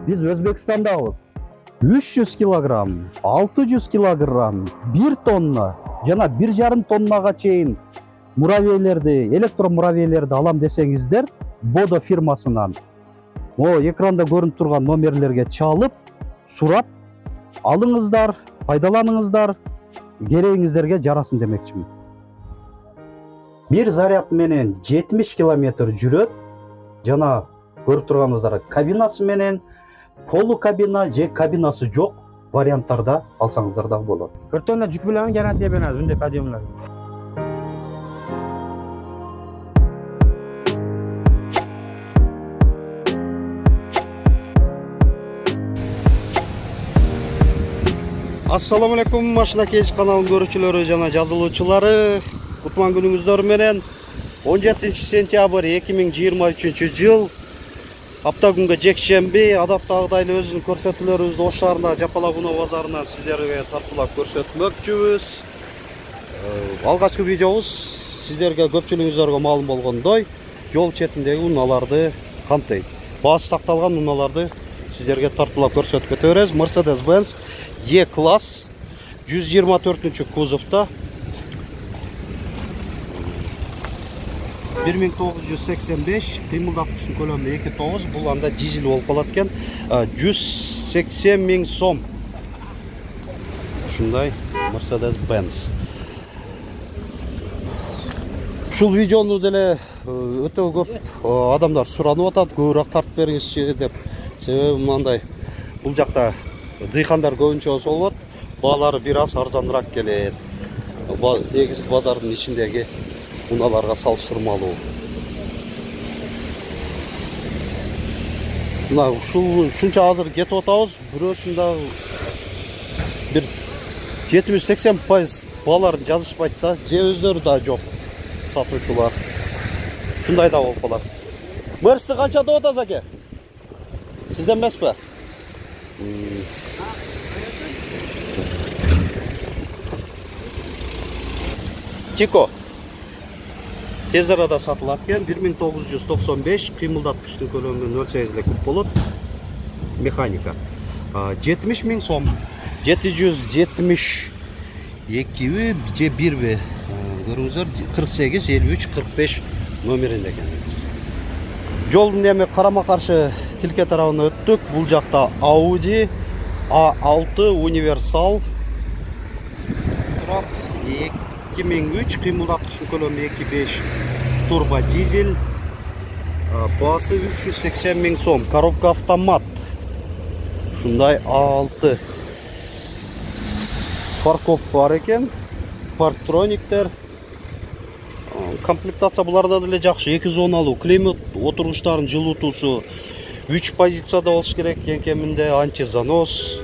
Биз Өзбекстандабыз. 300 килограмм, 600 килограмм, 1 тонна жана 1,5 тоннага чейин муравейлерди, электромуравейлерди алам десеңиздер, Бодо фирмасынан экранда көрүнүп турган номерлерге чалып, сурап алыңыздар, пайдаланыңыздар, керегиңиздерге жарасын демекчимин. Бир заряд менен 70 километр жүрөт. Жана көрүп турганыңыздар кабинасы менен полу кабина же кабинасы жок варианттарда алсаңыздар да болот. Өрттөн жүк менен гарантия беребиз мындай подъемлар. Ассаламу алейкум, Машина Кеч каналынын көрүүчүлөрү жана жазылуучулары. Кутман күнүңүздөр менен 17 сентябрь 2023 жыл. Апта күнгө жекшемби, адаттагыдай эле өзүнүн көрсөтүүлөрүбүздү Ош шаарында Жапалабуна базарынан сиздерге тартуулап көрсөтмөкчүбүз. Алгачкы видеобуз сиздерге көпчүлүгүңүздөргө маалым болгондой, жол четиндеги унааларды камтыйт. Баасы такталган унааларды сиздерге тартуулап көрсөтүп кете беребиз. Mercedes-Benz E-класс 124 кузовда 1985, кыймылдаткычтын көлөмү 2,9, бул анда дизель болуп калат экен. 180 миң сом. Ушундай Mercedes-Benz. Ушул видеону деле өтө көп адамдар суранып атат, көбүрөөк тартып бериңизчи деп. Себеби мындай, бул жакта дыйкандар көбүнчө болот, баалары бир аз арзаныраак келет. Негизи базардын ичиндеги унааларга салыштырмалуу. Мына ушунча азыр кетип атабыз, бирөөсүндө бир 70-80% бааларын жазышпайт да, же өздөрү да жок сатуучулар. Ушундай да болуп калат. Мерсти канча деп атасыз аке? Сизден эмеспи? Чико. Тез арада сатылат экен, 1995, кыймылдаткычтын көлөмү 0,8 эле куб болот. Механика. 70 миң сом. 772 же 1 көрүңүздөр, 48 53 45 номеринде экен. Жолдун эми карама-каршы тилке тарабына өттүк. Бул жакта Audi A6 универсал турат. 2003, кыймылдаткычтын көлөмү 2,5, турбо дизель, баасы 380 миң сом. Коробка автомат. Ушундай A6. Паркоп бар экен. Парктрониктер. Комплектация буларда деле жакшы. 2 зоналуу климат, отургучтардын жылытуусу 3 позицияда болуш керек. Эң кеминде антизанос,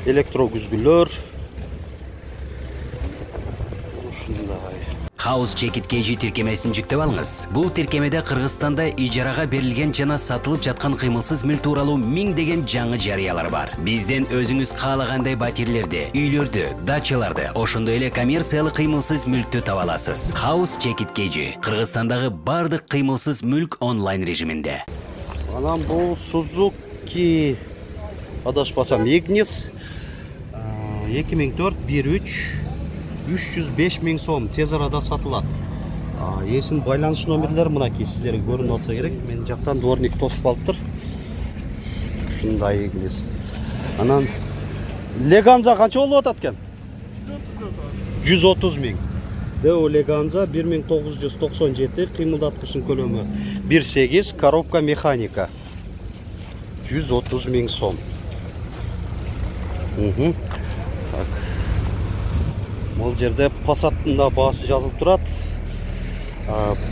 электрокүзгүлөр. House Check-it KG тиркемесин жүктөп алыңыз. Бул тиркемеде Кыргызстанда ижарага берилген жана сатылып жаткан кыймылсыз мүлк тууралуу миңдеген жаңы жарыялар бар. Бизден өзүңүз каалагандай батирлерди, үйлөрдү, дачаларды, ошондой эле коммерциялык кыймылсыз мүлктү таба аласыз. House Check-it KG Кыргызстандагы бардык кыймылсыз мүлк онлайн режиминде. Анан бул Suzuki адашпасам Ignis 2004 1.3 305 миң сом, тез арада сатылат. Эсин байланыш номерлери мынакей сиздерге көрүнүп атса керек. Мен жактан дворник тосуп алыптыр. Ушундай Ignis. Анан Leganza канча болуп атат экен? 130 миң. Deo Leganza 1997, кыймылдаткычтын көлөмү 1,8, коробка механика 130 миң сом. Так. Бул жерде Passat'ın да баасы жазылып турат.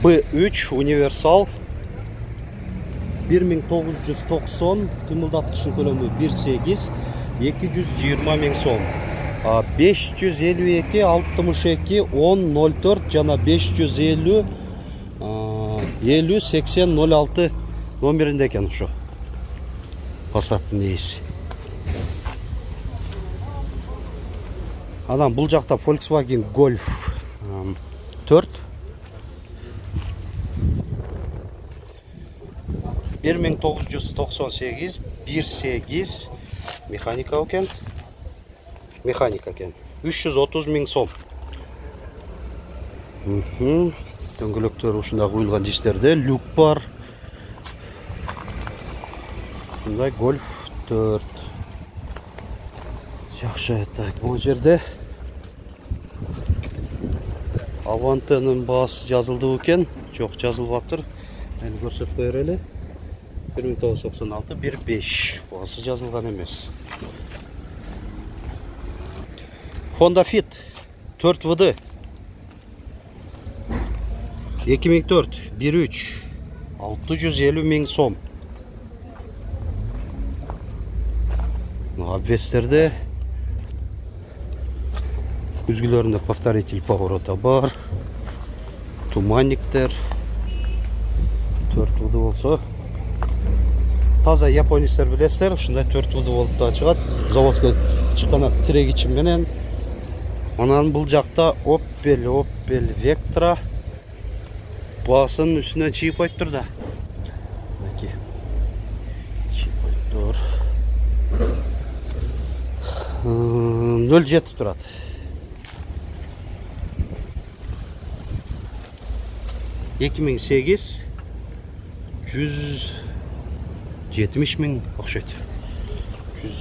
B3 универсал 1990, кыймылдаткычтын көлөмү 1,8, 220 миң сом. 552 62 1004 жана 550 50 80 06 номеринде экен ушу. Passat'ын ээси. Анан бул жакта Volkswagen Golf 4 1998 1.8 механика экен. Механика экен. 330 000 сом. Дөңгөлөктөр ушундай куюлган жиштерде люк бар. Ушундай Golf 4. Жакшы, так, бул жерде Avanta'nын баасы жазылды экен. Жок, жазылбаптыр. Мен көрсөтүп коер эле. 1996 1.5 баасы жазылган эмес. Honda Fit 4WD 2004 1.3 650 000 сом. Обвестерде күзгүлөрүндө повторитель поворота бар. Туманниктер 4WD болсо таза японецтер билесиздер, ушундай 4WD болуп да чыгат. Заводской чыккан тирегичи менен. Анан бул жакта Opel Vectra баасын үстүнөн чийип коюптур да. Мынакей. Чийип коюптур. 07 турат. Эки миң 8 170 000 окшойт.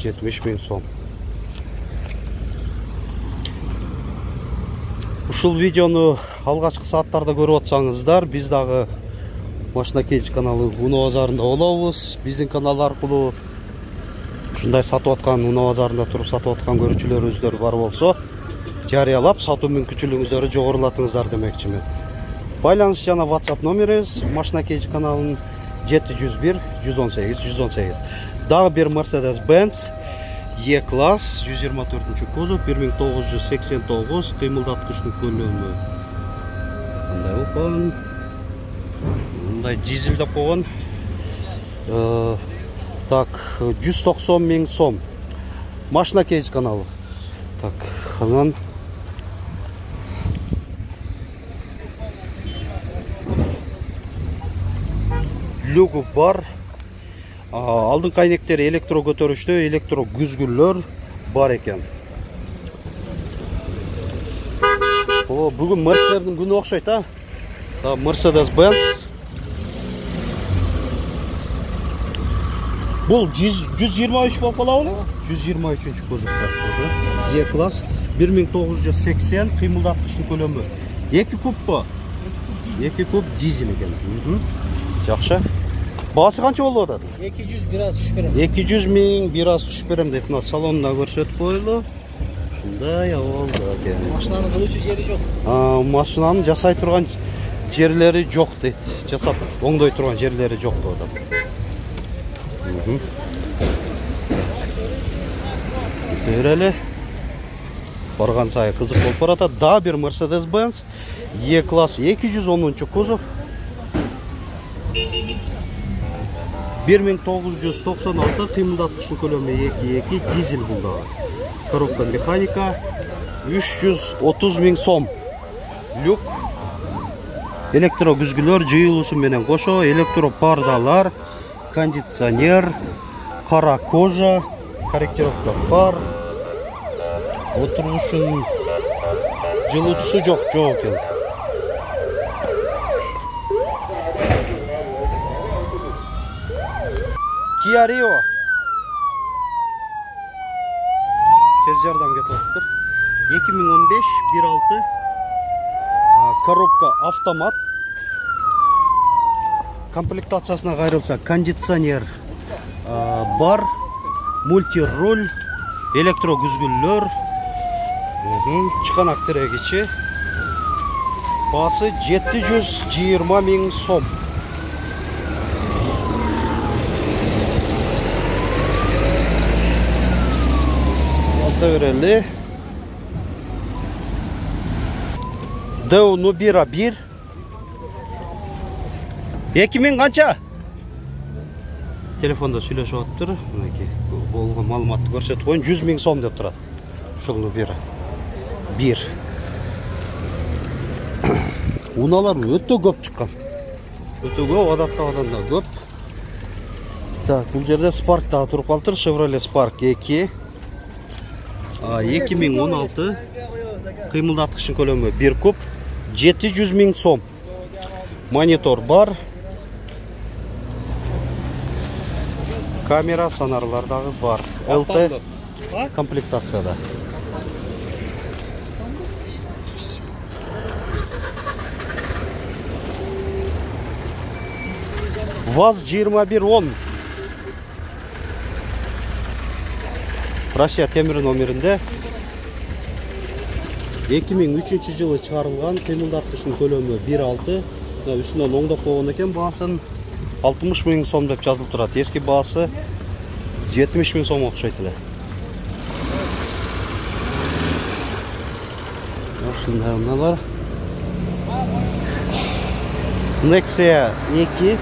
170 000 сом. Ушул видеону алгачкы сааттарда көрүп атсаңыздар, биз дагы Машина Кейдж каналы Уноо базарында болобуз. Биздин канал аркылуу ушундай сатып аткан, Уноо базарында туруп сатып аткан көрүүчүлөрүңүздөр бар болсо, жарыялап сатуу мүмкүнчүлүгүңүздөрдү жогорулатыңыздар демекчимин. Байланыш жана WhatsApp номерибиз Машина Кейдж каналынын 701 118 118. Дагы бир Mercedes-Benz E-класс 124 кузов 1989 кыймылдаткычтын көлөмү. Кандай болгон? Мындай дизель деп койгон. Так, 190 000 сом. Машина Кейдж каналы. Так, анан люгу бар. Алдыңкы айнектери электро көтөрүштө, электро күзгүлөр бар экен. Бүгүн Мерседестердин күнү окшойт, а? Mercedes-Benz. Бул 123 болуп калабы? 123 кузовда. E-класс 1980 кыймылдаткычтын көлөмү. 2 куб. 2 куб дизель экен. Жакшы. Баасы канча болуп атат? 200 бир аз түшүп берем. 200 000 бир аз түшүп берем деп мына салонда көрсөтүп коелу. Ушундай абалда экен. Машинанын кылуучу жери жок. Машинанын жасай турган жерлери жок дейт. Жасап оңдой турган жерлери жок деп атат. Кетеберели. Барган сайы кызык болуп баратат. Да бир Mercedes-Benz E-класс 210 кузов 1996 кыймылдаткычтын көлөмү 2.2 дизель бул дагы. Коробка механика 330 000 сом. Люк, электро күзгүлөр жыйылуусу менен кошо, электро пардалар, кондиционер, кара кожа, корректировка фар, отурушун жылытуусу жок экен. Kia Rio. Tez жардам кетип атыптыр. 2015 1.6 коробка автомат. Комплектациясына кайрылса, кондиционер бар, мультируль, электро күзгүлөр, чыканак тирегичи. Баасы 720 000 сом. Берели. Deo Nubira 1. 2000 канча? Телефонда сүйлөшүп атыптыр. Мынакей болгон маалыматты көрсөтүп коюн. 100 000 сом деп турат. Ушул Nubira 1. Уналар өтө көп чыккан. Өтө көп, адаттагыдан да көп. Так, бул жерде Spark дагы туруп калыптыр. Chevrolet Spark 2. 2016 кыймылдаткычтын көлөмү 1 куб, 700 000 сом. Монитор бар. Камера, сонарлар дагы бар. LT комплектацияда. ВАЗ 2110. Россия темир номеринде 2003 жылы чыгарылган, кыймылдаткычтын көлөмү 1.6. Үстүнөн оңдоп койгон экен, баасын 60 000 сом деп жазылып турат. Эски баасы 70 000 сом окшойт эле. Ушундай унаалар. Nexia 2.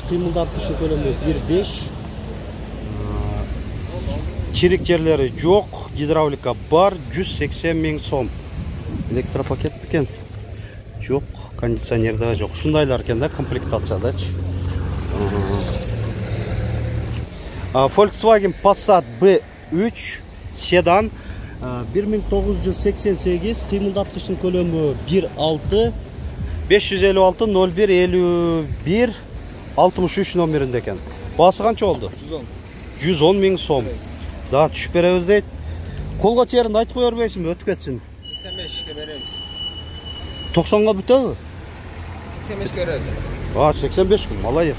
кыймылдаткычтын көлөмү 1.5. Чирик жерлери жок, гидравлика бар, 180 000 сом. Электропакет бекен? Жок, кондиционер да жок. Ушундайлар экен да, комплектациядачы. Volkswagen Passat B3 седан 1988, кыймылдаткычтын көлөмү 1.6, 556 01 51 63 номеринде экен. Баасы канча болду? 110 000 сом. Да түшүп беребиз дейт. Колго терин айтып кое бербейсиңби, өтүп кетсин? 85ке беребиз. 90га бүтөбү? 85ке беребиз. 85 000, молодец.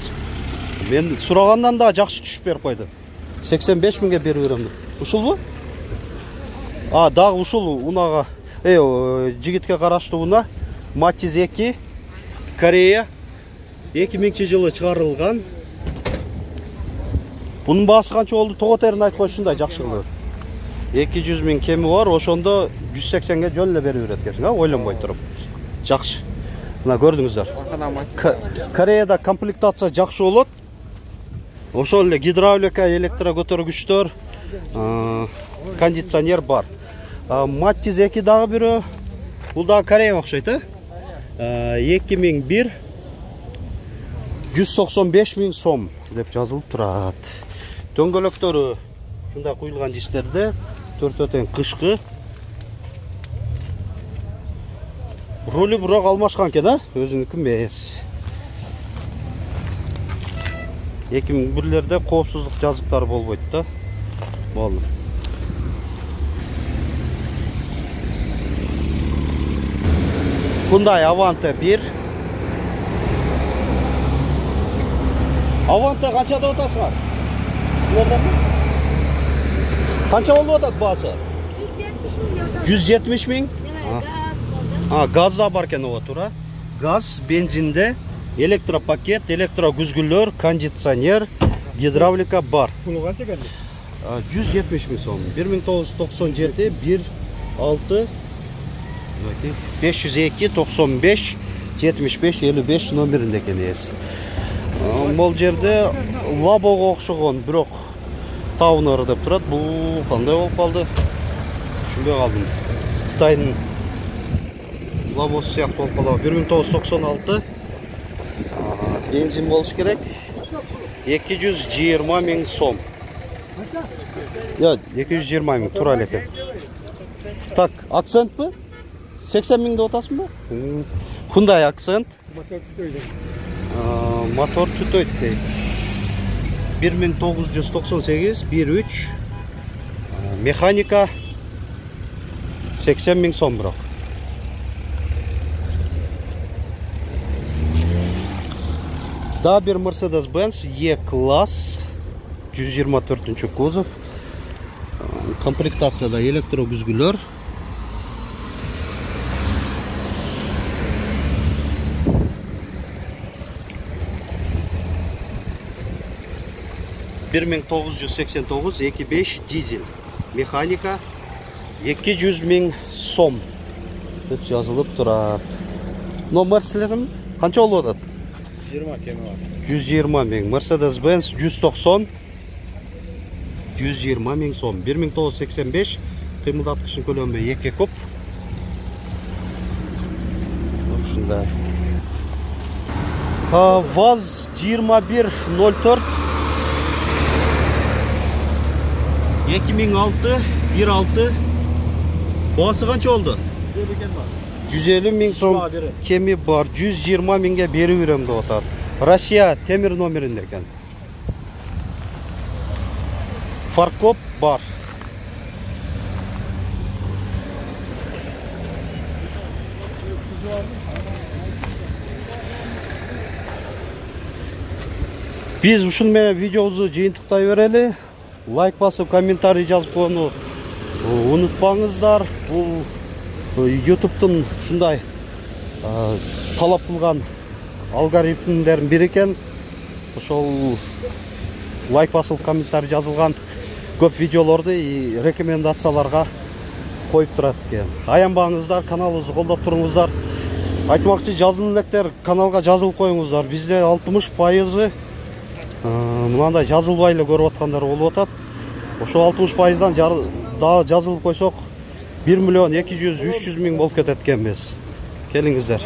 Мен сурагандан да жакшы түшүп берип койду. 85 000ге берип берем. Ушулбу? Дагы ушул унага, жигитке караштуу уна, Matiz 2, Корея, 2000-жылы чыгарылган. Bunun baası kança oldu? Toğoterin ayt koşunda жақшы kılıyor. 200 000 kemi var, oşonda 180'ge jönle beri üretkesин, oylanbay turup. Жақшы. Mına gördüңүздөр. Koreyada komplектация жақшы болот. Ошол эле гидравлика, электро көтөргүчтөр, кондиционер бар. Matiz 2 дагы бирөө. Бул дагы Корея окшойт, 2001 195 000 сом деп жазылып турат. Дөңгөлөктөрү ушундай куюлган жиштерде, төртөтен кышкы. Ролу бирок алмашкан экен, өзүнүкү эмес. 2001-лерде коопсуздук жазыктары болбойт да. Болду. Hyundai Avante 1. Avante kança da otasыңар? Kança болуп атат баасы? 170 000. Gaz da бар экен ого туура. Gaz, бензинде, электропакет, электрогүзгүлөр, кондиционер, гидравлика бар. Пулу канча экен? 170 000 сом. 1997 1.6 502 95 75 55 номеринде экен ээси. Бул жерде Лабого окшогон, бирок Таунер деп турат. Бул кандай болуп калды? Түшүнбөй калдым. Кытайдын Лабосу сыяктуу болуп калды. 1996 бензин болуш керек. 220 000 сом. 220 000 туура эле экен. Так, акцентпи? 80 000 деп атасыңбы? Hyundai акцент. Мотор түтөйт дейт. 1998 1.3 механика 80 000 сом бирок. Да бир Mercedes-Benz E-класс 124 кузов. Комплектацияда электрогүзгүлөр. $1989 2.5 дизель. Механика 200 000 сом деп жазылып турат. Номерлерим канча болуп атат? 20 кеми бар. 120 000. Mercedes-Benz 190 120 000 сом. 1985 кыймылдаткычтын көлөмү 2 куб. ушундай. ВАЗ 2104 2006 1.6 баасы канча болду? 150 миң сом кеми бар. 120 миңге берип берем деп атат. Россия темир номеринде экен. Фаркоп бар. Биз ушун менен видеобузду жыйынтыктай берели. Лайк басып, комментарий жазып койууну унутпаңыздар. Бул YouTube'тун ушундай талап кылган алгоритмдердин бири экен. Ошол лайк басып, комментарий жазылган көп видеолорду рекомендацияларга коюп турат экен. Аянбаңыздар, каналыбызды колдоп туруңуздар. Айтмакчы, жазылган электер каналга жазылып коюңуздар. Бизде 60% мынандай жазылбай эле көрүп аткандар болуп атат. Ошол 60%дан дагы жазылып койсок 1 миллион 200-300 миң болуп кетет экенбиз. Келиңиздер.